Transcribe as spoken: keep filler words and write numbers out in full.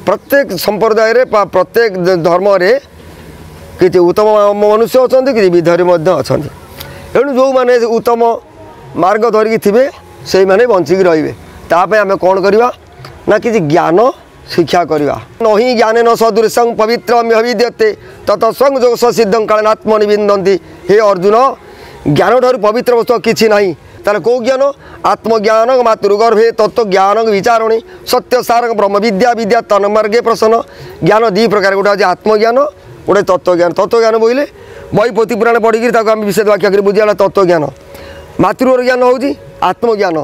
ପ୍ରତ୍ୟେକ ସମ୍ପ୍ରଦାୟରେ ବା ପ୍ରତ୍ୟେକ ଧର୍ମରେ କିଛି ଉତ୍ତମ ମନୁଷ୍ୟ ଅଛନ୍ତି, କିଛି ବିଧର୍ମୀ ମଧ୍ୟ ଅଛନ୍ତି। ଏଣୁ ଯେଉଁମାନେ ଉତ୍ତମ ମାର୍ଗ ଧରିକି ଥିବେ, ସେଇମାନେ ବଞ୍ଚିକି ରହିବେ। ତା ପାଇଁ ଆମେ କ'ଣ କରିବା ନା କିଛି ଜ୍ଞାନ ଶିକ୍ଷା କରିବା। ନହିଁ ଜ୍ଞାନେ ନ ସଦୃଶଂ ପବିତ୍ର ବିଦ୍ୟତେ ତତ ସଂଯୋଗ ସିଦ୍ଧଂ କାଳନାତ୍ମନି ବିନ୍ଦନ୍ତି। ହେ ଅର୍ଜୁନ, ଜ୍ଞାନଠାରୁ ପବିତ୍ର ବସ୍ତୁ କିଛି ନାହିଁ। ତାହେଲେ କେଉଁ ଜ୍ଞାନ? ଆତ୍ମଜ୍ଞାନ ମାତୃଗର୍ଭେ ତତ୍ତ୍ୱଜ୍ଞାନ ବିଚାରଣୀ ସତ୍ୟ ସାରକ ବ୍ରହ୍ମ ବିଦ୍ୟା ବିଦ୍ୟା ତନ୍ମାର୍ଗେ ପ୍ରସନ୍ନ। ଜ୍ଞାନ ଦୁଇ ପ୍ରକାର, ଗୋଟେ ହେଉଛି ଆତ୍ମଜ୍ଞାନ, ଗୋଟେ ତତ୍ତ୍ୱଜ୍ଞାନ। ତତ୍ତ୍ୱଜ୍ଞାନ ବୋଇଲେ ବହି ପୋଥି ପୁରାଣ ପଢ଼ିକିରି ତାକୁ ଆମେ ବିଶେଷ ବାକ୍ୟ କରି ବୁଝିବା ତତ୍ତ୍ୱଜ୍ଞାନ। ମାତୃର ଜ୍ଞାନ ହେଉଛି ଆତ୍ମଜ୍ଞାନ।